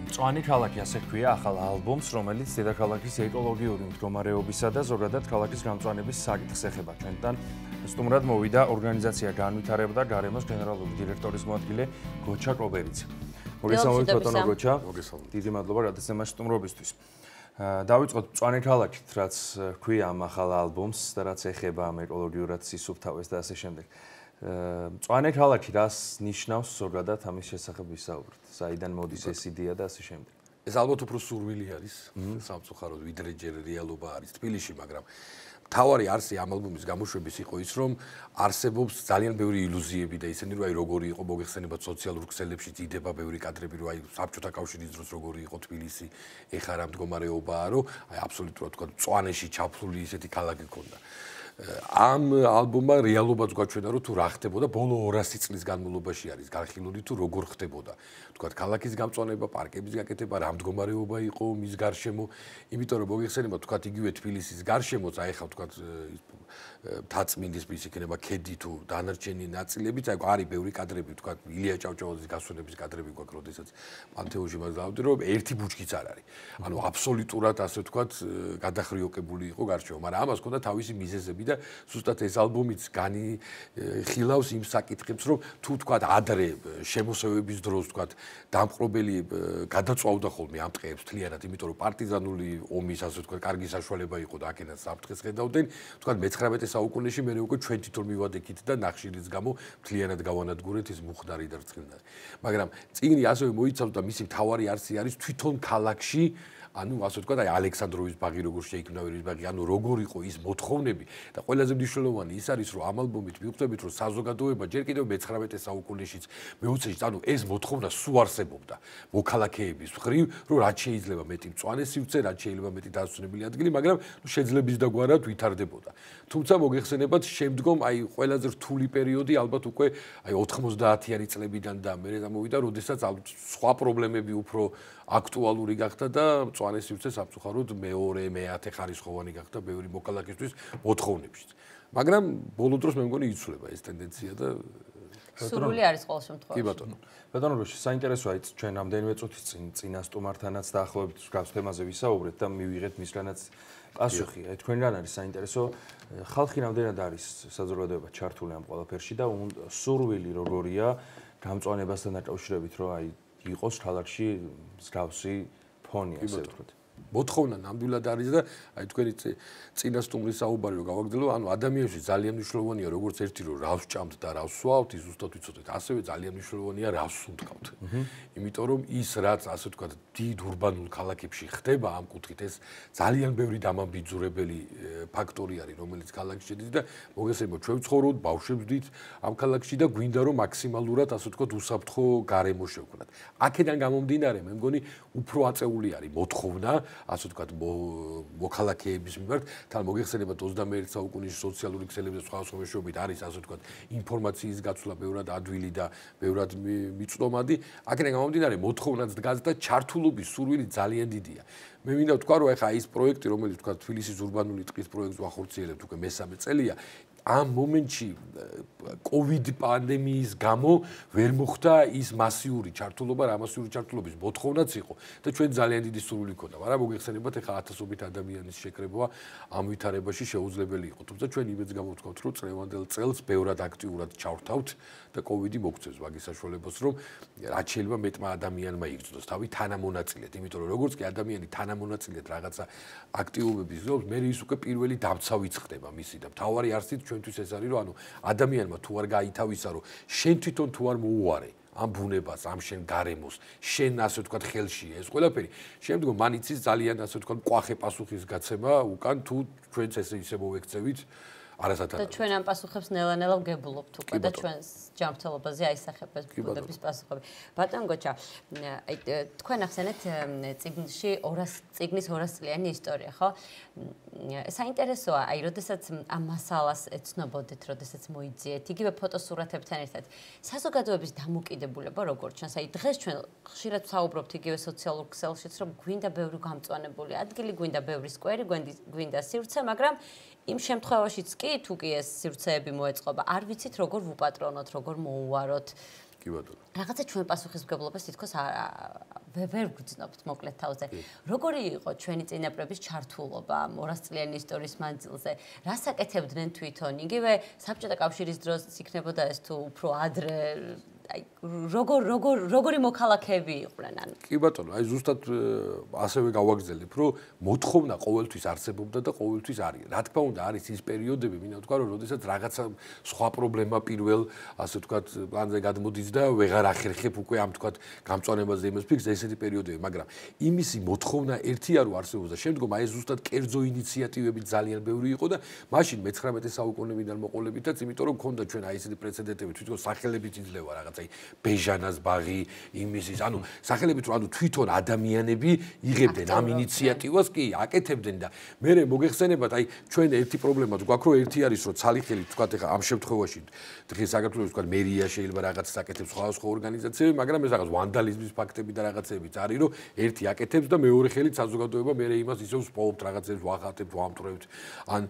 მწვანე ქალაქი ასე ჰქვია ახალ ალბომს, რომელიც დედაქალაქის ეკოლოგიური მდგომარეობისა და ზოგადად ქალაქის გამწვანების საკითხს ეხება. ჩვენთან სტუმრად მოვიდა ორგანიზაცია განვითარება და გარემოს გენერალური დირექტორის მოადგილე გოჩა კობერიძე. მოგესალმებით ბატონო გოჩა. დიდი მადლობა გადაცემაში სტუმრობისთვის. დავიწყოთ მწვანე ქალაქით, რაც ჰქვია ამ ახალ ალბომს და რაც ეხება ამ ეკოლოგიურად სისუფთავეს და ასე შემდეგ. მწვანე ქალაქი რას ნიშნავს ზოგადად ამის შესახებ ვისაუბროთ. საიდან მოდის ეს იდეა და ასე შემდეგ. ეს ალბათ უფრო სურვილი არის სამწუხაროდ, ვიდრე ჯერ რეალობა არის თბილისში, მაგრამ მთავარი არსი ამ ალბომის გამოშვების იყო ის, რომ არსებობს ძალიან ბევრი ილუზიები და ისინი, რომ აი როგორი იყო მოგეხსენებათ სოციალურ ქსელებში იდება ბევრი კადრები, რომ აი საბჭოთა კავშირის დროს როგორი იყო თბილისი, ეხლა რა მდგომარეობაა, რომ აი აბსოლუტურად თქვა მწვანეში ჩაფლული ისეთი ქალაქი ქონდა. ამ ალბომმა რეალობაც გვაჩვენა, რომ თუ რა ხდებოდა ბოლო 200 წლის განმავლობაში არის განხილული თუ როგორ ხდებოდა. თქვა ქალაქის გამწვანება, პარკების გაკეთება, რა მდგომარეობა იყო მის გარშემო, იმიტომ რომ მოგეხსენებათ თქვა იგივე თბილისის გარშემოც აი ხა თქვა თაწმინდის ის იქნება ქედი თუ დანარჩენი ნაწილებიც, აი არის ბევრი კადრები, თქვა ილია ჭავჭავაძის გასვენების კადრები გვაქვს, როდესაც პანთეონში მას დავდი, რომ ერთი ბუჩქიც არ არის. ანუ აბსოლუტურად ასე თქვა გადახრიოკებული იყო გარშემო, მაგრამ ამას ჰქონდა თავისი მიზეზები და ზუსტად ეს ალბომიც განიხილავს იმ საკითხებს, რომ თუ თქვა ადრე შემოსევების დროს თქვა დამპყრობელი გადაწვავდა ხოლმე ამ ტყეებს თლიანად, იმიტომ რომ პარტიზანული ომის ასე თქვა კარგი საშუალება იყო და აქედან საფრთხეს ხედავდნენ, თქვა მე-19 საუკუნეში მე უკვე ჩვენ თვითონ მივადექით და ნახშირის გამო თლიანად გავანადგურეთ ეს მუხდარი და რცხილნარი. მაგრამ წიგნი ასევე მოიცავს და მისი მთავარი არსი არის თვითონ ქალაქში ანუ ასე ვთქვათ, აი ალექსანდროვის ბაღი როგორ შეიქმნა ვერის ბაღი, ანუ როგორ იყო ის მოთხოვნები და ყველაზე მნიშვნელოვანი ის არის, რომ ამ ალბომით მივხვდებით, რომ საზოგადოება ჯერ კიდევ მე-19 საუკუნეშიც, მე-20-ში, ანუ ეს მოთხოვნა სულ არსებობდა მოქალაქეების მხრივ, რომ რაც შეიძლება მეტი მწვანე სივრცე, რაც შეიძლება მეტი დასვენებელი ადგილი, მაგრამ შეძლების დაგვარად ვითარდებოდა. თუმცა მოგეხსენებათ, შემდგომ აი ყველაზე რთული პერიოდი ალბათ უკვე აი 90-იანი წლებიდან და მერე გამოვიდა, როდესაც სხვა პრობლემები უფრო აქტუალური გახდა და მწვანე სივრცე სამწუხაროდ მეორე, მე-10 ხარისხოვანი გახდა ბევრი მოქალაქისთვის მოთხოვნებშიც. მაგრამ ბოლო დროს მე მგონი იცვლება ეს ტენდენცია და სურვილი არის ყოველ შემთხვევაში. კი ბატონო. ბატონო როში, საინტერესოა ის ჩვენ ამდენიმე წუთის წინა სტუმართანაც დაახლოებით გავს თემაზე ვისაუბრეთ და მივიღეთ მისგანაც პასუხი. თქვენგან არის საინტერესო, ხალხი რამდენად არის საზოგადოება ჩართული ამ ყველაფერში და სურვილი როგორია გამწვანებასთან დაკავშირებით, რომ აი იყოს ქალაქში მსგავსი ფონი, ასე ვთქვათ. მოთხოვნა ნამდვილად არის და აი თქვენი წინა სტუმრის საუბარი რომ გავაგრძელო, ანუ ადამიანებში ძალიან მნიშვნელოვანია როგორც ერთი რომ რავს ჭამთ და რავს სვავთ, ის ზუსტად ვიცოდეთ, ასევე ძალიან მნიშვნელოვანია რავს სუნთქავთ. იმიტომ რომ ის რაც ასე ვთქვათ დიდ ურბანულ ქალაქებში ხდება ამ კუთხით ეს ძალიან ბევრი დამამბიძურებელი ფაქტორი არის, რომელიც ქალაქში შედის და მოგესალმებით ჩვენ ვცხოვრობთ, ბავშვებს ვდით ამ ქალაქში და გვინდა რომ მაქსიმალურად ასე ვთქვათ უსაფრთხო გარემო შევქმნათ. აქედან გამომდინარე მე მგონი უფრო აწეული არის მოთხოვნა ასე ვთქვათ მოქალაქეების მიმართ, თან მოგეხსენებათ 21 საუკუნეში სოციალური ქსელებზე სხვა მეშვეობით არის ასე ვთქვათ ინფორმაციის გაცვლა ბევრად ადვილი და ბევრად მიწვდომადი. აქედან გამომდინარე მოთხოვნაც დგას და ჩართულობის სურვილი ძალიან დიდია. მე მინდა ვთქვა რომ ეხა ის პროექტი რომელიც ვთქვათ თბილისის ურბანული ტყის პროექტს ვახორციელებთ უკვე მე-3 წელია ამ მომენტში COVID პანდემიის გამო ვერ მოხდა ის მასიური ჩართულობა, რა მასიური ჩართულობის მოთხოვნაც იყო და ჩვენ ძალიან დიდი სურვილი ჰქონდა, მაგრამ მოგეხსენებათ ეხლა ათასობით ადამიანის შეკრება ამ ვითარებაში შეუძლებელი იყო. თუმცა ჩვენ იმედს გამოვთქვათ, რომ წლევანდელ წელს ბევრად აქტიურად ჩავთავთ და COVID-ი მოგწევს მაგის საშუალებას, რომ რაც შეიძლება მეტმა ადამიანმა იგრძნოს თავი თანამონაწილედ, იმიტომ რომ როგორც კი ადამიანი თანამონაწილედ რაღაცა აქტიობების გზობს, მე ის უკვე პირველი დამცავიც ხდება მისი და მთავარი არსით ჩვენთვის ეს არის, რომ ანუ ადამიანმა თუ არ გაითავისა, რომ შენ თვითონ თუ არ მოუარე ამ ბუნებას, ამ შენ გარემოს, შენ ასე ვთქვათ ხელში ეს ყველაფერი, შემდგომ მან იცის ძალიან ასე ვთქვათ მკვახე პასუხის გაცემა უკან თუ ჩვენც ესე ისე მოვექცევით არასათანადო. და ჩვენ ამ პასუხებს ნელა-ნელა ვგებულობთ უკვე და ჩვენს ჯანმრთელობაზე აისახება ეს ბუნების პასუხები. ბატონ გოჩა, აი თქვენ ახსენეთ წიგნში წიგნის 200 წლიანი ისტორია, ხო? საინტერესოა, აი როდესაც ამ მასალას ეცნობოდეთ, როდესაც მოიძიეთ, იგივე ფოტოსურათებთან ერთად, საზოგადოების დამოკიდებულება როგორ ჩანს? აი დღეს ჩვენ ხშირად ვსაუბრობთ იგივე სოციალურ ქსელშიც, რომ გვინდა ბევრი გამწვანებული ადგილი, გვინდა ბევრი სკვერი, გვინდა სივრცე, მაგრამ იმ შემთხვევაშიც კი თუ კი ეს სივრცეები მოეწყობა, არ ვიცით როგორ ვუპატრონოთ, როგორ მოუვაროთ. კი ბატონო. რაღაცა ჩვენ პასუხისმგებლობას თითქოს ვერ გვგრძნობთ მოკლედ თავზე. როგორი იყო ჩვენი წინაპრების ჩართულობა 200 წლიანი ისტორიის მანძილზე? რას აკეთებდნენ თვითონ? იგივე საბჭოთა კავშირის დროს იქნებოდა ეს თუ უფრო ადრე აი როგორი მოქალაქეები იყვნენ ანუ კი ბატონო აი ზუსტად ასევე გავაგრძელებ რომ მოთხოვნა ყოველთვის არსებობდა და ყოველთვის არის რა თქმა უნდა არის ის პერიოდები მინდა ვთქვა რომ როდესაც რაღაცა სხვა პრობლემა პირველ ასე ვთქვათ პლანზე გადმოდის და ვეღარ ახერხებ უკვე ამ ვთქვათ გამწვანებაზე იმას ფიქს ესეთი პერიოდები მაგრამ იმისი მოთხოვნა ერთია რომ არსებობდა შემდგომ აი ზუსტად კერძო ინიციატივები ძალიან ბევრი იყო და მაშინ მე-19 საუკუნეიდან მოყოლებითაც იმიტომ რომ ქონდა ჩვენ აი ესეთი პრეცედენტები თვითონ სახელებით იძლევა რაღაც აი ბეჟანას ბაღი იმისის ანუ სახელებით რომ ანუ თვითონ ადამიანები იღებდნენ ამ ინიციატივას კი აკეთებდნენ და მე მოგეხსენებათ აი ჩვენ ერთი პრობლემა გვაქვს რომ ერთი არის რომ ცალიხელი თქვათ ეხა ამ შემთხვევაში დღეს საქართველოს თქვათ მერია შეიძლება რაღაცას აკეთებს სხვა ორგანიზაციები მაგრამ ეს რაღაც ვანდალიზმის ფაქტები და რაღაცებიც არის რომ ერთი აკეთებს და მეორე ხელით საზოგადოება მე იმას ისევ სპორტ რაღაცებს ვახატებთ ვამტვრევთ ან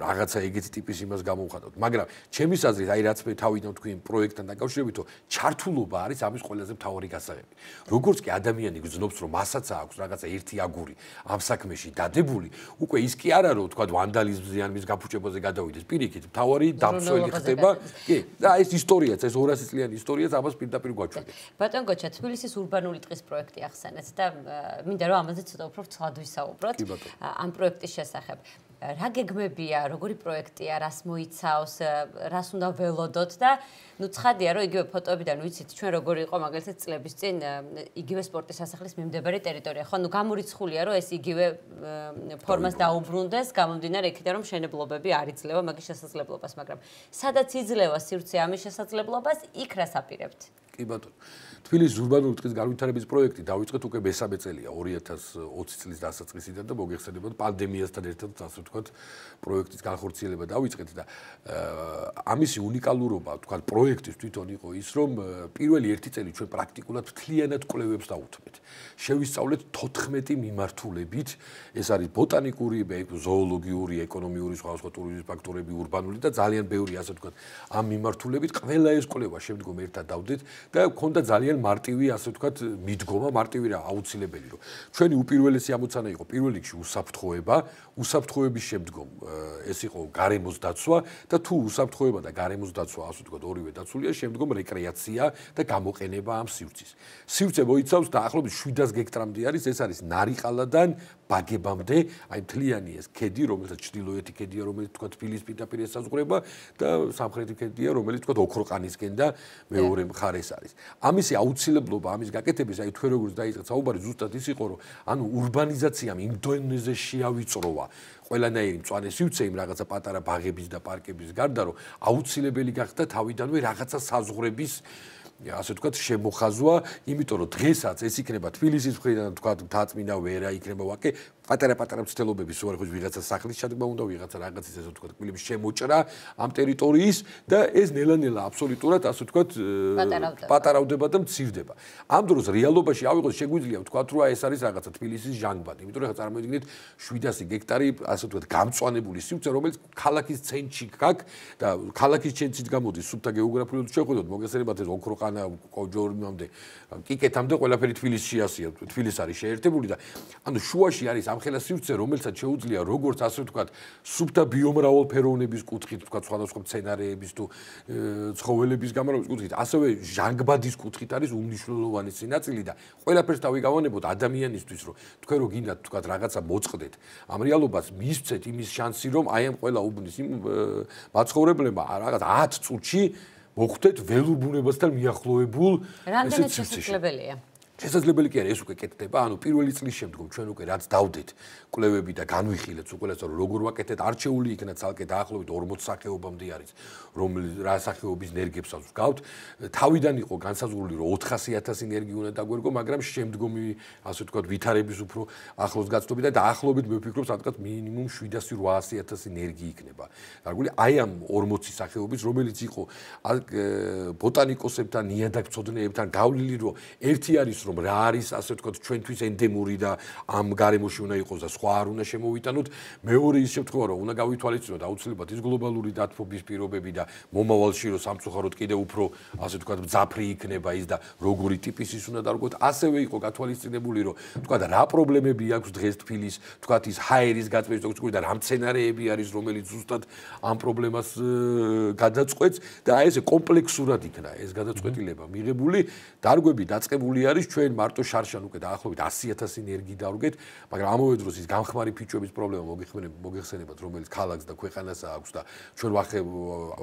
რაღაცა ეგეთი ტიპის იმას გამოვხატავთ მაგრამ ჩემის აზრით აი რაც მე თავიდან თქვი პროექტთან დაკავშირებით ჩართულობა არის ამის ყველაზე მთავარი გასაღები. როგორც კი ადამიანი გძნობს რომ მასაც აქვს რაღაცა ერთი აგური ამ საქმეში დადებული, უკვე ის კი არა რომ თქვა ვანდალიზმზე ან მის გაფუჭებაზე გადავიდეს, პირიქით მთავარი დამცველი ხდება. კი, და ეს ისტორიაც, ეს 200 წლიანი ისტორიაც ამას პირდაპირ გვაჩვენებს. ბატონ გოჩა, თბილისის ურბანული ტყის პროექტი ახსენეთ და მინდა რომ ამაზე ცოტა უფრო ვცვლად ვისაუბროთ. ამ პროექტის შესახებ. რა გეგმებია, როგორი პროექტია, რას მოიცავს, რას უნდა ველოდოთ და ნუ ცხადია რომ იგივე ფოტოებიდან ვიცით ჩვენ როგორი იყო მაგალითად წლების წინ იგივე სპორტის სასახლის მიმდებარე ტერიტორია. ხო, ნუ გამორიცხულია რომ ეს იგივე ფორმას დაუბრუნდეს, გამომდინარე იქიდან რომ მშენებლობები არ იძლევა მაგის შესაძლებლობას, მაგრამ სადაც იძლევა სივრცე ამის შესაძლებლობას, იქ რას აპირებთ? კი ბატონო. თბილისის ურბანული ტყის განვითარების პროექტი დავიწყეთ უკვე მესამე წელია 2020 წლის დასაწყისიდან და მოგეხსენებათ პანდემიასთან ერთად ასე ვთქვათ პროექტის განხორციელება დავიწყეთ და ამისი უნიკალურობა ვთქვათ პროექტის თვითონ იყო ის რომ პირველი ერთი წელი ჩვენ პრაქტიკულად მთლიანად კვლევებს დავუთმეთ. შევისწავლეთ 14 მიმართულებით ეს არის ბოტანიკური, ზოოლოგიური, ეკონომიური, სხვა ტურიზმის ფაქტორები, ურბანული და ძალიან ბევრი ასე ვთქვათ ამ მიმართულებით ყველა ეს კვლევა შემდგომ ერთად დავდეთ და მქონდა ძალიან მარტივი ასე ვთქვათ მიდგომა მარტივი რა აუცილებელი რომ ჩვენი უპირველესი ამოცანა იყო პირველ რიგში უსაფრთხოების შემდგომ ეს იყო გარემოს დაცვა და თუ უსაფრთხოება და გარემოს დაცვა ასე ვთქვათ ორივე დაცულია შემდგომ რეკრეაცია და გამოყენება ამ სივრცის სივრცე მოიცავს დაახლოებით 700 გექტრამდე არის ეს არის ნარიყალადან ბაგებამდე აი მთლიანი ეს ქედი რომელსაც ჩრდილოეთი ქედია რომელიც ვთქვათ თბილისის პირდაპირ ესაზღვრება და სამხრეთი ქედია რომელიც ვთქვათ ოქროყანისკენ და მეორე მხარეს არის ამისი აუცილებლობა ამის გაკეთების აი თქვენ როგორც დაიწყეთ საუბარი ზუსტად ის იყო რომ ანუ ურბანიზაციამ იმ დონეზე შეავიწროვა ყველანაირი მწვანე სივრცე იმ რაღაცა პატარა ბაღების და პარკების გარდა რომ აუცილებელი გახდა თავიდანვე რაღაცა საზღვრების ასე ვთქვათ შემოხაზვა იმიტომ რომ დღესაც ეს იქნება თბილისის მხრიდან ვთქვათ მთაწმინდა ვერა იქნება ვაკე პატარა მცდელობები სულ არ ხო ვიღაცა სახლის ჩადგმა უნდა ვიღაცა რაღაცის ესე ვთქვათ კბილების შემოჭრა ამ ტერიტორიის და ეს ნელა-ნელა აბსოლუტურად ასე ვთქვათ პატარავდება და მცირდება ამ დროს რეალობაში ავიღოთ შეგვიძლია ვთქვათ რომ ეს არის რაღაცა თბილისის ჟანგბადი იმიტომ რომ წარმოიდგინეთ 700 გექტარი ასე ვთქვათ გამწვანებული სივრცე რომელიც ქალაქის ცენტრში გაქვს და ქალაქის ცენტრით გამოდის სუფთა გეოგრაფიულად შეხედოთ მოგესალმებით ეს ოქროყანა კოჯორმამდე კიკეთამდე ყველაფერი თბილისში ასია თბილის არის შეერთებული და ანუ შუაში არის ამხელა სივრცე რომელსაც შეუძლია როგორც ასე ვთქვათ სუფთა ბიომრავალფეროვნების კუთხით ვთქვათ სხვადასხვა მცენარეების თუ ცხოველების გამრავლების კუთხით ასევე ჟანგბადის კუთხით არის უმნიშვნელოვანესი ნაწილი და ყველაფერს დავიგავანებოთ ადამიანისთვის რომ თქვენ რო გინდათ ვთქვათ რაღაცა მოწყდეთ ამ რეალობას მისცეთ იმის შანსი რომ აი ამ ყველა უბნის იმ მაცხოვრებლებმა რაღაც 10 წუთში მოხვდეთ ველურ ბუნებასთან მიახლოებულ რამდენად შესაძლებელია შესაძლებელი კი არა ეს უკვე კეთდება ანუ პირველი წლის შემდგომ ჩვენ უკვე რაც დავდეთ კვლევები და განვიხილეთ უყურეს რომ როგორ ვაკეთეთ არჩეული იქნა ცალკე დაახლოებით 40 სახეობამდე არის რომელიც რა სახეობის ნერგებსაც ვგავთ თავიდან იყო განსაზღვრული რომ 400,000 ნერგი უნდა დაგვერგო მაგრამ შემდგომი ასე ვთქვათ ვითარების უფრო ახლოს გაცდობით და დაახლოებით მე ვფიქრობ სადღაც მინიმუმ 700-800,000 ნერგი იქნება დაგული აი ამ 40 სახეობის რომელიც იყო ბოტანიკოსებთან ნიადაგწოდნეებთან გავლილი რომ ერთი არის რომ რა არის ასე ვთქვათ ჩვენთვის ენდემური და ამ გარემოში უნდა იყოს და სხვა არ უნდა შემოვიტანოთ. მეორე ის შემთხვევა რომ უნდა გავითვალისწინოთ აუცილებლად ის გლობალური დათბობის პირობები და მომავალში რომ სამწუხაროდ კიდევ უფრო ასე ვთქვათ მძაფრი იქნება ის და როგორი ტიპის ის უნდა დარგოთ. ასევე იყო გათვალისწინებული რომ ვთქვათ რა პრობლემები აქვს დღეს თბილის ვთქვათ ის ჰაერის გაწმენდის დოქტორი და რა მცენარეები არის რომელიც ზუსტად ამ პრობლემას გადაწყვეტს და აი ესე კომპლექსურად იქნა ეს გადაწყვეტილება მიღებული. დარგვები დაწყებული არის ჩვენ მარტო შარშან უკვე დაახლოებით 100,000 ენერგი დავრგეთ, მაგრამ ამავე დროს ის გამხმარი ფიჩოების პრობლემა მოგეხსენებათ, რომელიც ქალაქს და ქვეყანას აქვს და ჩვენ ვახე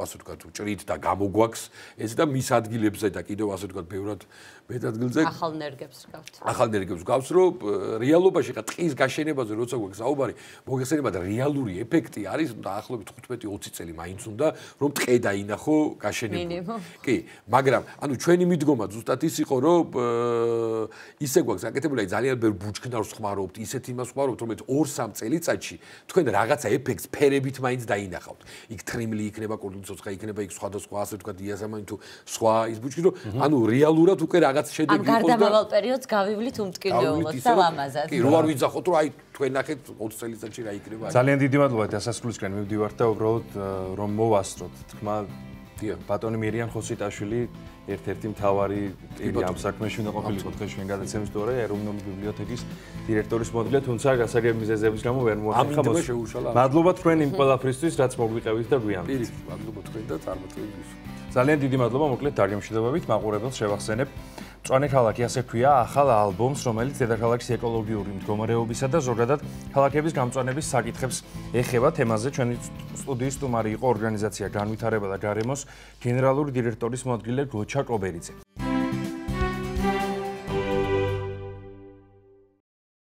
ასე ვთქვათ ჭრით და გამოგვაქვს ეს და მის ადგილებზე და კიდევ ასე ვთქვათ ბევრად მეტ ადგილზე ახალ ენერგებს გავს. ახალ ენერგებს გავს, რომ რეალობაში ხა ტყის გაშენებაზე როცა გვაქვს საუბარი, მოგეხსენებათ რეალური ეფექტი არის დაახლოებით 15-20 წელი მაინც უნდა რომ ტყე დაინახო გაშენებული. კი, მაგრამ ანუ ჩვენი მიდგომა ზუსტად ის იყო, რომ ისე გვაქვს აკეთებული, აი ძალიან ბევრ ბუჩქნარს ხმარობთ, ისეთ იმას ხმარობთ, რომელიც 2-3 წელიწადში თქვენ რაღაცა ეფექტს ფერებით მაინც დაინახავთ. იქ თრიმლი იქნება, კურდღლიცოცხლა იქნება, იქ სხვადასხვა ასე ვთქვათ დიაზამანი თუ სხვა ის ბუჩქი, რომ ანუ რეალურად უკვე რაღაც შედეგი იყოს და ამ გარდამავალ პერიოდს გავივლით უმტკივნეულოდ და ლამაზად. კი, რო არ ვიძახოთ, რომ აი თქვენ ნახეთ 20 წელიწადში რა იქნება. ძალიან დიდი მადლობა დასასრულისკენ მივდივართ და უბრალოდ რომ მოვასწროთ თქმა ბატონი მირიან ხოსიტაშვილი ერთ-ერთი მთავარი ამ საქმეში უნდა ყოფილიყო დღეს ჩვენ გადაცემის დრო ეროვნული ბიბლიოთეკის დირექტორის მოადგილე, თუმცა გასაგები მიზეზების გამო ვერ მოახერხა. მადლობა თქვენ იმ ყველაფრისთვის, რაც მოგვიყევით და გვიან. პირიქით, მადლობა თქვენ და წარმოწევისთვის. ძალიან დიდი მადლობა, მოკლედ დარგემშვიდობებით მაყურებელს შევახსენებ. მწვანე ქალაქი ასე ქვია ახალ ალბომს, რომელიც დედაქალაქის ეკოლოგიური მდგომარეობისა და ზოგადად ქალაქების გამწვანების საკითხებს ეხება. თემაზე ჩვენი სტუდიის სტუმარი იყო ორგანიზაცია განვითარება და გარემოს გენერალური დირექტორის მოადგილე გოჩა კობერიძე.